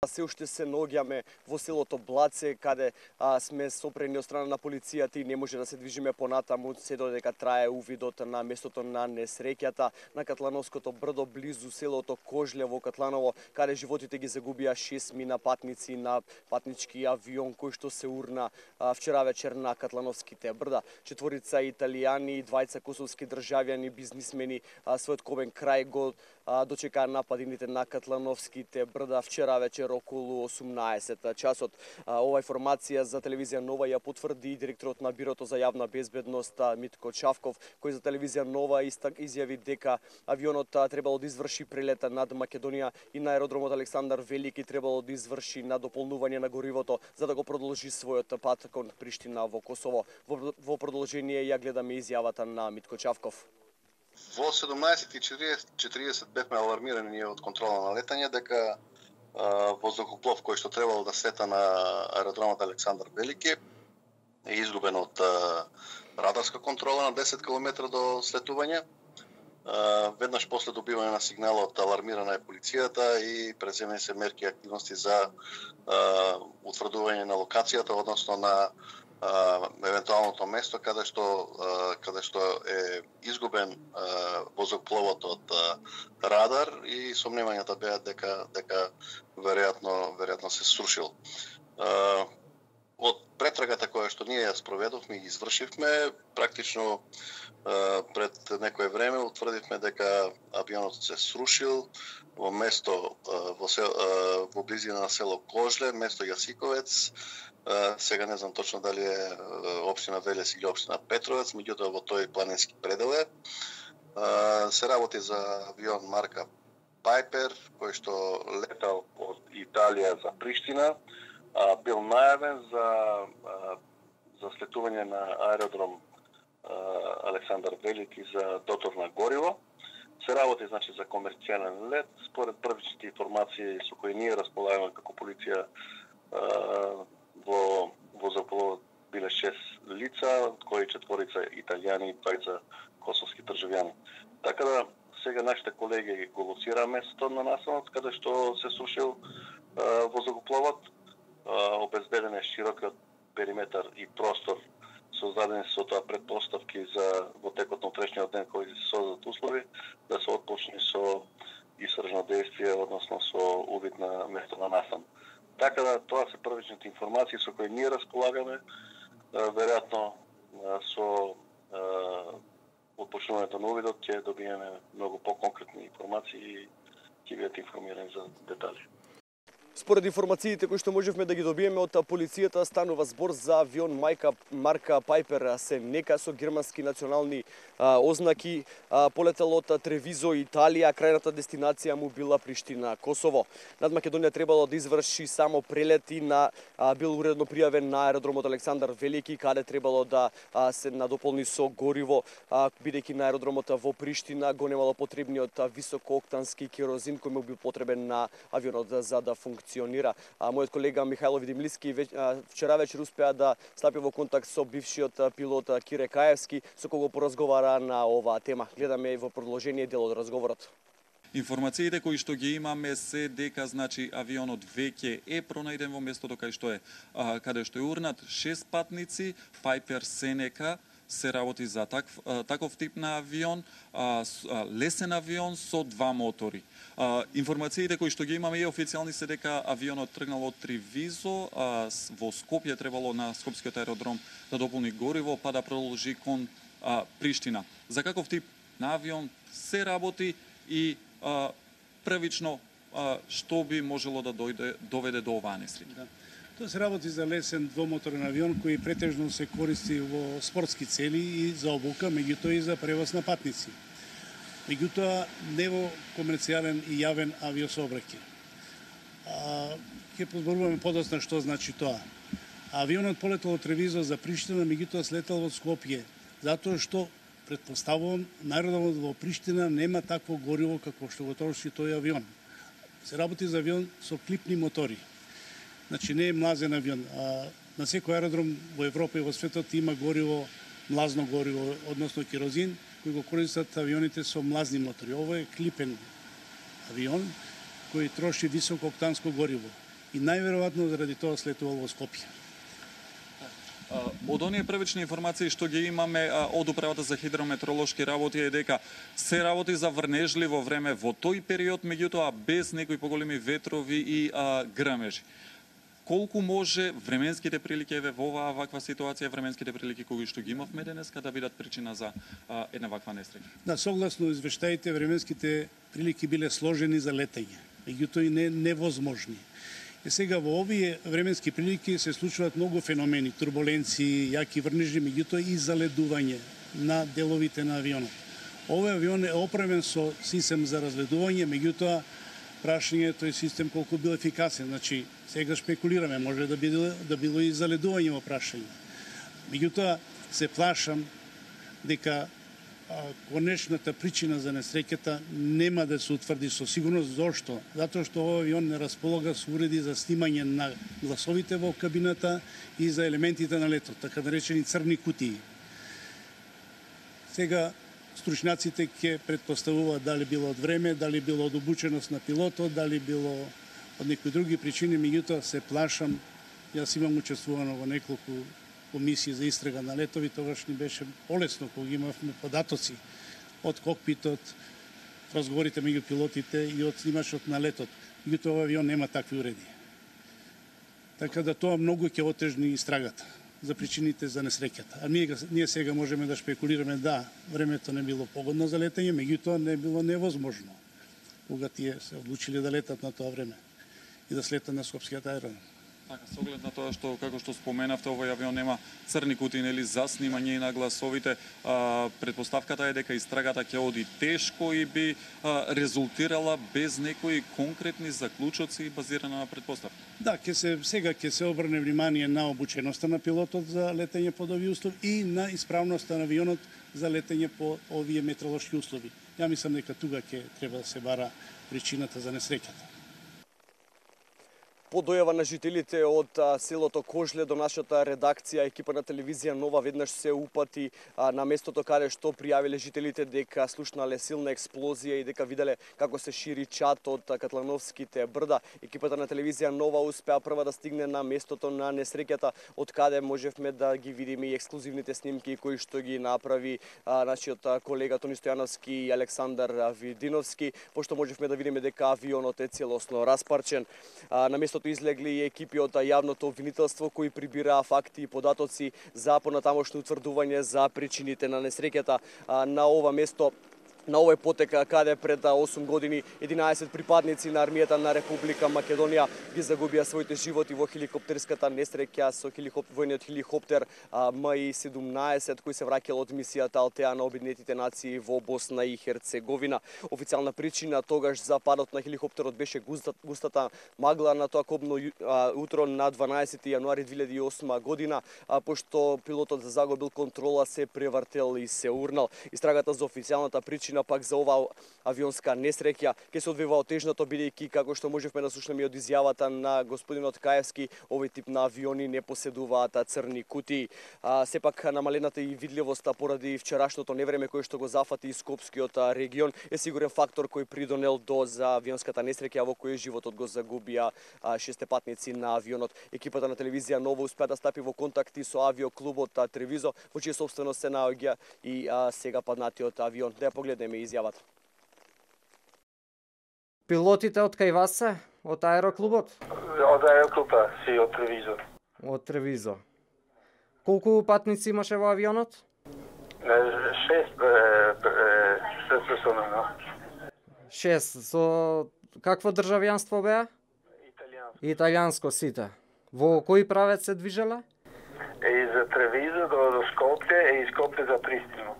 Се уште се наоѓаме во селото Блаце, каде сме сопрени од страна на полицијата и не може да се движиме понатаму, се додека трае увидот на местото на несреќата на Катлановското брдо близу селото Кожле во Катланово, каде животите ги загубија 6 мина патници на патнички авион кој што се урна вчера вечер на Катлановските брда. 4 италијани и 2 косовски државјани бизнисмени својот ковен крај го дочекаа нападините на Катлановските брда вчера вечер околу 18 часот. Ова информација за телевизија Нова ја потврди и директорот на Бирото за јавна безбедност Митко Чавков, кој за телевизија Нова изјави дека авионот требало да изврши прелета над Македонија и на аеродромот Александар Велики требало да изврши надополнување на горивото за да го продолжи својот пат кон Приштина во Косово. Во продолжение ја гледаме изјавата на Митко Чавков. Во 17:40 бевме алармирани ние од контрола на летање дека воздухоплов кој што требало да слета на аеродромот Александар Велики е изгубен од радарска контрола на 10 км до слетување. Веднаш после добивање на сигналот алармирана е полицијата и преземени се мерки и активности за утврдување на локацијата, односно на евентуалното место каде што е изгубен воздухопловот од радар и сомневањата беа дека веројатно се срушил. Од претрагата која што ние ја спроведовме и извршивме, практично пред некое време утврдивме дека авионот се срушил во место во близина на село Кожле, место Јасиковец. Сега не знам точно дали е општина Велес или општина Петровец, меѓутоа во тој планински предел е. Се работи за авион марка Пайпер, кој што летал од Италија за Приштина, бил најавен за слетување на аеродром Александар Велики за дотор на гориво. Се работи значи за комерцијален лет, според првичните информации со кои ние располагаме како полиција. Во воздухопловот биле 6 лица, од кои 4 италијани и 2 косовски државјани. Така да сега нашите колеги го лоцираа местото на настанот каде што се срушил воздухопловот. Обезбеден е широкиот периметар и простор, создадени со тоа предпоставки за во текот на утрешниот ден кои се создадат услови да се отпочне со истражно действие, односно со увид на место на настан. Така да тоа се првичните информации со кои ние располагаме. Веројатно со отпочнувањето на увидот ќе добиеме многу по-конкретни информации и ќе бидете информирани за детали. Според информациите кои што можевме да ги добиеме од полицијата, станува збор за авион марка Пайпер Сенека со германски национални ознаки. Полетел од Тревизо, Италија, крајната дестинација му била Приштина, Косово. Над Македонија требало да изврши само прелети бил уредно пријавен на аеродромот Александар Велики, каде требало да се надополни со гориво, бидејќи на аеродромот во Приштина го немало потребниот високооктански керозин кој му бил потребен на авионот за да функционира. Мојот колега Михајло Видимлиски вчера вечер успеа да стапи во контакт со бившиот пилот Кире Каевски, со кого поразговара на оваа тема. Гледаме во продолжение дел од разговорот. Информациите кои што ги имаме се дека значи авионот веќе е пронајден во местото каде што е урнат 6 патници, Пайпер Сенека. Се работи за таков тип на авион, лесен авион со 2 мотори. Информациите кои што ги имаме и официјални се дека авионот тргнал од Тревизо, во Скопје требало на скопскиот аеродром да дополни гориво, па да продолжи кон Приштина. За каков тип на авион се работи и првично што би можело да доведе до оваа несреќа? Тоа се работи за лесен двомоторен авион кој претежно се користи во спортски цели и за обука, меѓутоа и за превоз на патници. Меѓутоа не во комерцијален и јавен авиосообраќај. Ќе позборуваме подоцна што значи тоа. Авионот полетел од Тревизо за Приштина, меѓутоа слетал од Скопје, затоа што претпоставувам на аеродромот во Приштина нема такво гориво како што го троши тој авион. Се работи за авион со клипни мотори. Значи не е млазен авион. На секој аеродром во Европа и во светот има гориво, млазно гориво, односно керозин, кој го користат авионите со млазни мотори. Ово е клипен авион кој троши високо октанско гориво. и најверојатно заради тоа слетувал во Скопје. Од оние првични информации што ги имаме од Управата за хидрометеоролошки работи е дека се работи за врнежливо време во тој период, меѓутоа без некои поголеми ветрови и грмежи. Колку може временските прилики во ваква ситуација, временските прилики кои што ги имавме денеска да бидат причина за една ваква несреќа? Да, согласно извештаите, временските прилики биле сложени за летање, меѓутоа и невозможни. И сега во овие временски прилики се случуваат многу феномени, турбуленции, јаки врнежи, меѓутоа и заледување на деловите на авионот. Овој авион е опремен со систем за разледување, меѓутоа прашање тој систем колку бил ефикасен. Значи, сега шпекулираме, може да било и заледување во прашање. Меѓутоа, се плашам дека конечната причина за несреќата нема да се утврди со сигурност. Зошто? Затоа што овој авион не располага со уреди за снимање на гласовите во кабината и за елементите на летот, така наречени црни кутии. Сега стручњаците ќе претпоставуваат дали било од време, дали било од обученост на пилотот, дали било од некои други причини, меѓутоа се плашам. Јас имам учествувано во неколку комисии за истрага на летови, тогаш ни беше полесно кога имавме податоци од кокпитот, разговорите меѓу пилотите и од снимачот на летот. Меѓутоа овој авион нема такви уреди. Така да тоа многу ќе отежни истрагата за причините за несреќата. А ние сега можеме да шпекулираме, да, времето не било погодно за летање, меѓутоа не било невозможно кога тие се одлучиле да летат на тоа време и да слетат на Скопскиот аеродром. Така, со оглед на тоа што, како што споменавте, овој авион нема црни кутии, нели, за снимање на гласовите, претпоставката е дека истрагата ќе оди тешко и би резултирала без некои конкретни заклучоци базирана на претпоставки. Да, сега ќе се обрне внимание на обученоста на пилотот за летање под овие услови и на исправноста на авионот за летање по овие метеоролошки услови. Ја мислам дека тука ќе треба да се бара причината за несреќата. По дојава на жителите од селото Кожле до нашата редакција, екипа на телевизија Нова веднаш се упати на местото каде што пријавиле жителите дека слушнале силна експлозија и дека виделе како се шири чад од Катлановските брда. Екипата на телевизија Нова успеа прва да стигне на местото на несреќата, од каде можевме да ги видиме и ексклузивните снимки кои што ги направи нашиот колега Тони Стојановски и Александар Видиновски, пошто можевме да видиме дека авионот е целосно распарчен. На местото излегли и екипи од јавното обвинителство кои прибираа факти и податоци за понатамошно утврдување за причините на несреќата. На ова место, на овој потек каде пред 8 години 11 припадници на армијата на Република Македонија ги загубија своите животи во хеликоптерската несреќа со војниот хеликоптер МИ-17 кој се враќал од мисијата Алтеа на Обединетите нации во Босна и Херцеговина. Официјална причина тогаш за падот на хеликоптерот беше густата магла на тоа кобно утро на 12 јануари 2008 година, пошто пилотот загубил контрола, се превртел и се урнал. Истрагата за официјалната причина пак за оваа авионска несреќа ќе се одвива отежнато, бидејќи како што можевме да слушнеме од изјавата на господинот Каевски, овој тип на авиони не поседуваат црни кутии. Сепак намалената и видливоста поради вчерашното невреме кое што го зафати и Скопскиот регион е сигурен фактор кој придонел до за авионската несреќа во кој животот го загубија 6 патници на авионот. Екипата на телевизија Нова успеа да стапи во контакти со авиоклубот Тревизо, во чија собственост се наоѓа и сега паднатиот авион. Да ја погледнеме изјавата. Пилотите од кај вас се? Од аероклубот? Од аероклуба, си од Тревизо. Од Тревизо. Колку патници имаше во авионот? 6 персона. 6. Со какво државјанство беа? Италијанско. Италијанско сите. Во кој правец се движеле? Из Тревизо до Скопје и Скопје за Пристину.